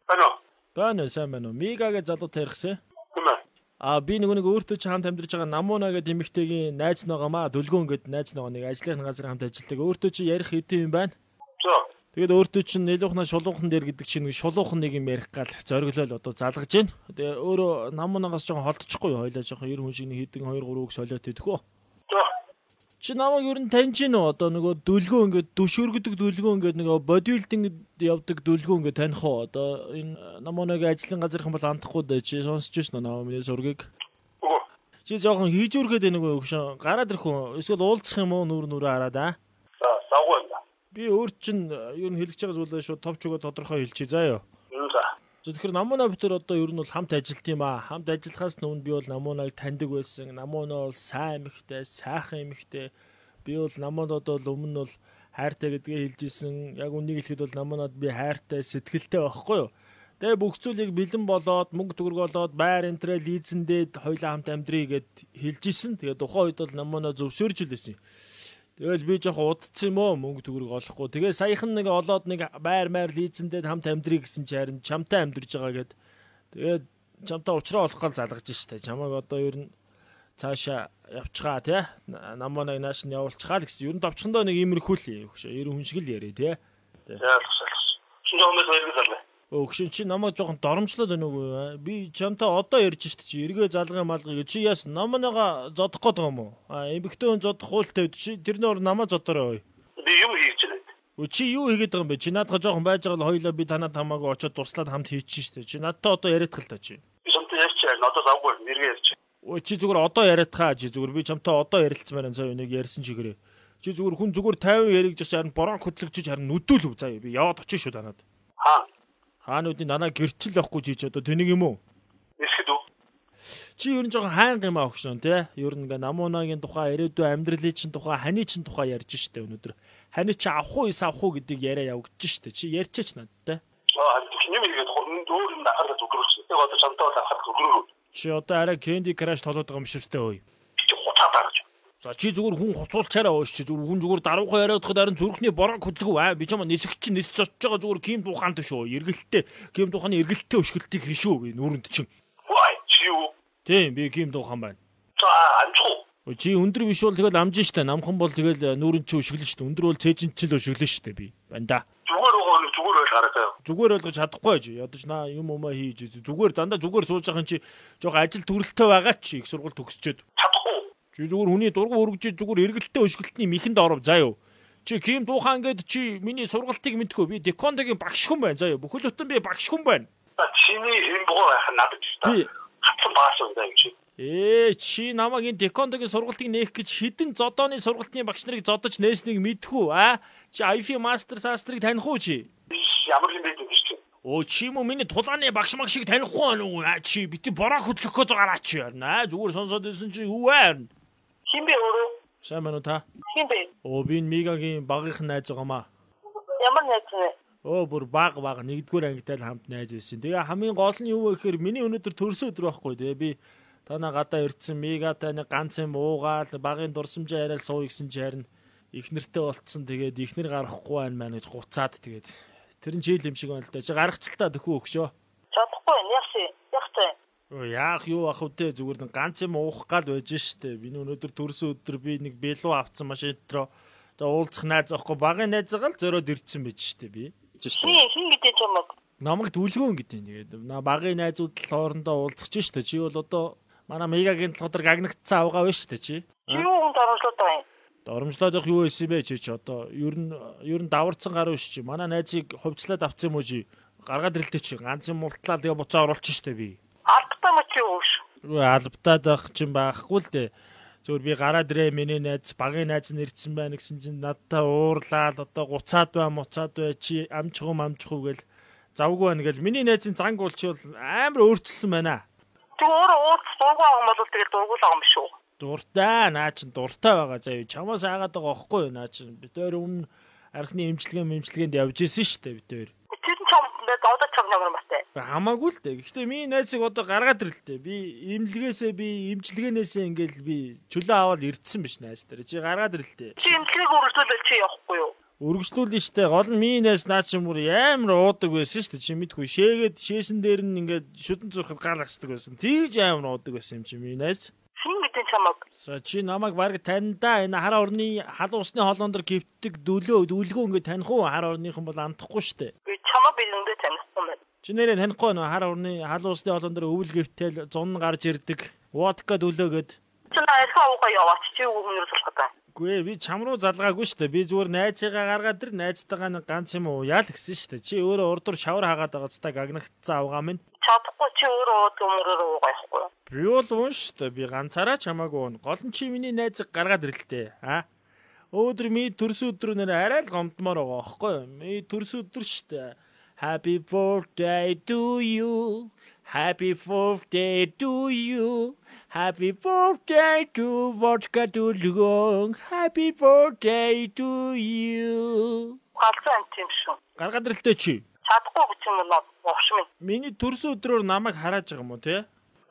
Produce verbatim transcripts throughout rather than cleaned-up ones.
Байна. Байна сайн байна уу? Мигагээ залуутай ярихсан. Тийм ээ. А би нэг нэг өөртөө ч хамт амьдарч байгаа Намуна гэдэг эмэгтэйгийн найз ногоомаа Дүлгөөн гэдэг найз ногоо нэг ажлын газар хамт ажилладаг. Өөртөө чи ярих хэдэн юм байна? За. Тэгээд өөртөө чи нэлуухнаа шулуухан дээр гэдэг чинь нэг шулуухан нэг юм ярих гал зориглол одоо залгаж байна. Тэгээ өөрөө Намунагаас жоохон холдчихгүй юу? Хойлоо жоохон ер хүн шиг нэг хэдэн хоёр гурав үг солиот идэх үү? За. Чи намайг ер нь таньж гин үү? Одоо нөгөө дүлгөө ингээд дүшөргөдөг дүлгөө ингээд нөгөө бодибилдинг явдаг дүлгөө ингээд таних уу? Одоо энэ Намунагийн ажлын газрын бол андахгүй дээ. Чи сонсч ирсэн үү намаа миний зургийг? Үгүй. Чи жоохон хийжүүргээд нэг өгшөн гараад ирэх үү? Эсвэл уулзах юм уу? Нүр нүрээ хараад аа? За, савгүй юм да. Би өөр чинь ер нь хэлж байгаа зүйлээ шууд товч өгөө тодорхой хэлчихье заа ёо. За. Тэгэхээр Намуна битэр одоо ер нь бол хамт ажилт юм аа. Хамт ажиллахаас өмнө би бол Намунаг таньдаг байсан. Намуна бол сайн эмэгтэй, сайхан эмэгтэй. Би бол Намунад бол өмнө бол хайртай гэдгээ хэлж исэн. Яг үнийг хэлэхэд бол Намунад би хайртай, сэтгэлтэй байхгүй юу? Тэгээ бүх зүйлийг бэлэн болоод, мөнгө төгрөг олоод, байр энтрээ лизэндээд хоёулаа хамт амьдрий гэд хэлж исэн. Тэгээ тухайн үед бол Намуна зөвшөөрж илсэн. Тэгэл би жоохон удцсан юм уу мөнгө төгрөг олохгүй. Тэгээ саяхан нэг олоод нэг байр майр лизэндээд хамт амьдрий гэсэн чи харин чамтай амьдарж байгаа гэд. Тэгээд чамтай уулзраа олох гал залгаж штэ. Чамайг одоо ер нь цаашаа явчихаа тий. Намуунаг нааш нь явуулчихаа л гэсэн. Ер нь товчхондоо нэг иймэрхүү л өгшөө. Ер хүн шиг л яриа тий. Яалгасаа. Шинэ хүмүүс хоёрыг залгая. Өгшин чи намайг жоохон доромжлоод байна уу? Би чамтай одоо ярьж штэ чи эргээ залгай малгай чи яасан намаанага зодох гээд байгаа юм уу? А эмэгтэй хүн зодох хуультай чи тэрнээр намаа зодорой. Би юм хийж байна. Өө чи юу хийгээд байгаа юм бэ? Чи наадах жоохон байж байгаа л хоёлаа би танаа тамаагаа очиод туслаад хамт хийчихсэн штэ. Чи надтай одоо яриадах л та чи. Би чамтай ярьчих. Одоо завгүй нэргээ ярьчих. Өө чи зүгээр одоо яриадахаа чи зүгээр би чамтай одоо ярилцмаар энэ цаа нэг ярьсан чигээрээ. Чи зүгээр хүн зүгээр тайван яригдчих харин борон хөтлөгчиж харин нүдүүлв заа би яваад очих шүү танаад. Аа. Хаануудын данаа гэрчил явахгүй чи ч одоо тэнийг юм уу? Эсгэд үү? Чи ер нь жоохон хайнга юм аа өгшөн тий. Ер нь ингээ Намунагийн тухай, ирээдүйн амьдралын чинь тухай, ханы чинь тухай ярьж штэ өнөөдөр. Ханы чи авах уу, эс авах уу гэдгийг яриа явагдаж штэ. Чи ярьчаач надтай. Аа, тийм нэгээд өөр юм ахараа зүгрүүч. Яг одоо чамтай бол ахараа зүгрүү. Чи одоо арай Candy Crush толоод байгаа юм шүү дээ ой. Чи хуцаа таарч. За чи зүгээр хүн хуцуулчаараа ууш чи зүгээр хүн зүгээр даруухан яриадахад харин зүрхний бороо хөдлөг аа би чамаа нисэх чинь нисч очиж байгаа зүгээр ким тухаант шүү. Эргэлттэй ким тухааны эргэлттэй өшгөлтийг хийшүү би нүрэнд чинь. Вай чи юу? Тийм би ким тухаан байна. За амжих. Чи өндөр биш бол тэгэл амжин штэ намхан бол тэгэл нүрэнд чи өшгөлнө штэ өндөр бол цээжин чил өшгөлнө штэ би. Банда. Зүгээр өгөө зүгээр байл хараа. Зүгээр ойлгож чадахгүй чи ядаж наа юм умаа хийж зүгээр дандаа зүгээр сууж байгаа чи жоохон ажил төрөлтөө байгаа чи их сургууль төгсчөөд. Чадахгүй. Чи зүгээр хүний дургу өргөж зүгээр эргэлттэй өшгөлтний михэнд оров заа юу. Чи ким дуухаан гээд чи миний сургалтыг мэдгүй би Декондогийн багш хүн байна заа юу. Бүхэл бүтэн би багш хүн байна. Чиний хэм боо байх надад ч та. Хатсан багш юм даа чи. Ээ чи намайг энэ Декондогийн сургалтыг нээх гэж хідэн зодооны сургалтын багш нарыг зодож нээснийг мэдхүү аа. Чи ай эф мастер састрыг таних уу чи? Ямар юм бэ гэж чи. Оо чи юм миний тулааны багш маг шиг танихгүй байна уу? Аа чи бити бороо хөдлөх гэж байгаараа чи аа зүгээр сонсоод ирсэн чи юу вэ? Хин бэ өөрөө? Сайн байна уу та? Хин бэ? Оо би Мигагийн багийнхан найз байгаамаа. Ямар найз вэ? Оо бүр баг баг нэгдүгээр ангитай л хамт найз байсан. Тэгээ хамгийн гол нь юу вэ гэхээр миний өнөөдөр төрсөн өдөр байхгүй тэгээ би танаа гадаа ирсэн Мигатай нэг ганц юм уугаал багийн дурсамжаа яриад сууя гэсэн чи харин их нэртэй болцсон тэгээд ихнэр гарахгүй байна маа гэж гуцаад тэгээд тэр нь чийл юм шиг байна л да. Чи гаргацлаа төхөө өгшөө. Чадахгүй байна. Яах яахтай. Оо яах юу ах үтэй зүгээр нэг ганц юм уух гал байж штэ. Миний өнөөдөр төрсөн өдөр би нэг бэлүү авцсан машин дотроо тэгээ уулзах найз авахгүй багын найзгаа л зөрөөд ирсэн байж штэ би. Хин хин гэдэг чамаг. Намайг дүлгөөн гэдэг. Тэгээд багын найзууд л хоорондоо уулзах ч штэ. Чи бол одоо манай Мигагийн толгойд гагнагдсан авгаа байна штэ чи. Чи юу хүн доромжлоод байгаа юм? Доромжлоод явах юу байсан бэ чи чи одоо ер нь ер нь даварцсан гаруй ш чи. Манай найзыг хувьцлаад авцсан юм уу чи? Гаргаад ирэлтэй чи ганц юм мултлаа тэгээ буцаа оруулчих штэ би. Албатай мөч юу ш? Албатай байх чинь байхгүй л дээ. Зөвөр би гараад ирээ миний найз багын найз нь ирсэн байна гэсэн чинь надтай уурлаад одоо гуцаад бай муцаад бай чи амжих юм амжих уу гэл завгүй байна гэл миний найзын занг болч бол амар өөрчлөсөн байна. Тэг өөрөө ууц дургуй байгаа юм бол тэгэл дургуй байгаа юм биш үү? Дуртай наа чин дуртай байгаа заа юу чамаас айгаад байгаа байхгүй юу наа чин бид өөр өмнө архины имчилгээ имчилгээнд явж исэн шүү дээ бид өөр. Тэр нь чам одоо чам ямар мастай. Хамаагүй л дээ. Гэхдээ миний найзыг одоо гаргаад ирэл дээ. Би имлгээсээ би имчилгээнээсээ ингээл би чөлөө аваад ирдсэн биш найз дээр. Чи гаргаад ирэл дээ. Чи имчилгээг үргэлжлүүлэл чи явахгүй юу? Өргөжлүүлнэ штэ. Гол нь минээс наа чи мөр амар уудаг байсан штэ. Чи мэдгүй шээгээд шээсэн дээр нь ингээд шүдэн зурхад гаалгацдаг байсан. Тийж амар уудаг байсан юм чи минээс. Хин мэдэн чамаг. За чи намайг баг таньдаа энэ хар орны хал усны холоон дор гівтдэг дөлөө дүлгөө ингээд таних уу? Хар орныхан бол амтахгүй штэ. Би чамаа бирэндээ танихгүй юм. Чи нэрээ танихгүй нөө хар орны хал усны холоон дор өвөл гівтэл зун гарч ирдэг. Водка дөлөөгээд. Чи найрхаа уугаа яваач чи юу хүнээр суулгатаа. Гүй би чам руу залгаагүй штэ. Би зүгээр найзыгаа гаргаад ир найзтайгаа нэг ганц юм уу яа л гэсэн штэ. Чи өөрөө урдуур шавар хаагаад байгаа цаа гагнахцсан авгаа минь. Чадахгүй чи өөрөө өмөрөөр уугаа явахгүй. Би бол уун штэ. Би ганцаараа чамаагүй уун. Гол нь чи миний найзыг гаргаад ирлээ. Аа. Өөдөр ми төрс өдрөө нэр арай л гомдмоор байгаа аахгүй юу? Ми төрс өдөр штэ. Happy birthday to you. Happy birthday to you. Happy birthday to vodka dulgong. Happy birthday to you. Галзуу юм шүү. Гаргаад ирлээ чи. Чадахгүй гэж юм уу уувш минь. Миний төрс өдрөөр намайг харааж байгаа юм уу те?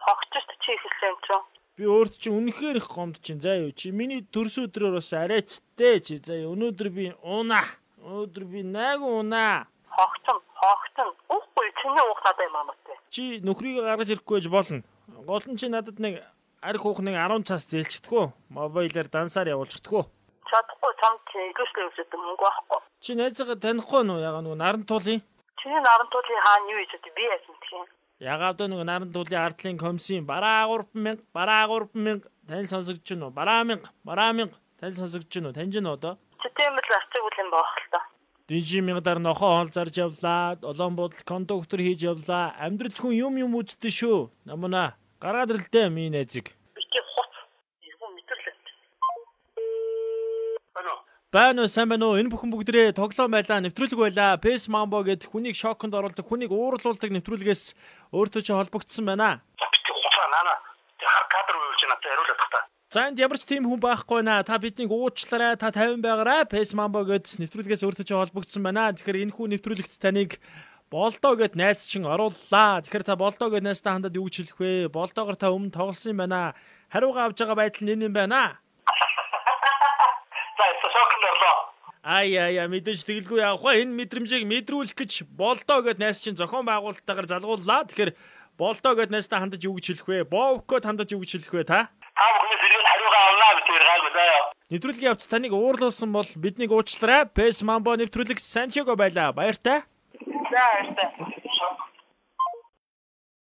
Хогчст чи ихэлсэн ч. Би өөрт чи үнэхээр их гомд чинь заа юу чи миний төрс өдрөөр бас арайчтэй чи заа юу өнөөдөр би унаа. Өнөөдөр би найг унаа. Хогцсон, хогцсон. Үгүй чиний уух надад юм аа мэтэ. Чи нөхрийг гаргаж ирэхгүй гэж болно. Гол нь чи надад нэг арх хуухныг арван цаас зээлчдэггүй. Мобайлаар дансаар явуулчихдэггүй. Чадахгүй чам чи ихэвчлэн үсэт мөнгө байхгүй. Чи найзгаа танихгүй нөө яга нөгөө наран туулын. Чиний наран туулын хаана юу хийж би яасан тийм. Ягаад нөгөө наран туулын ардлын комиссийн бараа гурван мянга, бараа гурван мянга тань сонсогдож байна уу? Бараа мянга, бараа мянга тань сонсогдож байна уу? Таньж нь одоо. Чи тийм л арчиг үл юм байх л та. Дижи мянгадаар нохоо хоол зарж явлаа. Олон бодол кондуктор хийж явлаа. Амьдрал хүн юм юм үздэг шүү. Намна гаргаад ирлээ минь найзыг. Бити хоц. Иргэн мэтэрлээ. Ано. Байна уу сайн байна уу? Энэ бүхэн бүгдээ тоглоом байлаа, нэвтрүүлэг байлаа. Пэс Mambo гэдэг хүнийг шоконд оруулдаг, хүнийг уурлуулдаг нэвтрүүлгээс өөртөө ч холбогдсон байна. Бити хоцаа нана. Хар кадр үйлж надад хариулах та. За энд ямар ч тийм хүн байхгүй наа. Та биднийг уучлаарай. Та тавин байгаарай. Пэс Mambo гэдэг нэвтрүүлгээс өөртөө ч холбогдсон байна. Тэгэхээр энэ хүн нэвтрүүлэгт таныг Болдоо гэд найз чин орууллаа. Тэгэхээр та Болдоо гэд найзтай хандаад юу гэж хэлэх вэ? Болдоогоор та өмнө тоглосон юм байна. Хариугаа авч байгаа байдал нь энэ юм байна. За сошокнд орлоо. Ай яа яа мэдээж тэгэлгүй явах ба энэ мэдрэмжийг мэдрүүлэх гэж Болдоо гэд найз чин зохион байгуулалтаагаар залгууллаа. Тэгэхээр Болдоо гэд найзтай хандаж юу гэж хэлэх вэ? Бовкод хандаж юу гэж хэлэх вэ та? Та бүхний зэрэг хариугаа авлаа бид гайгүй заяа. Нэвтрүүлгийн явц таныг уурлуулсан бол биднийг уучлаарай. Пэс Mambo нэвтрүүлэг Сантьяго байлаа. Баяртай. За баяртай.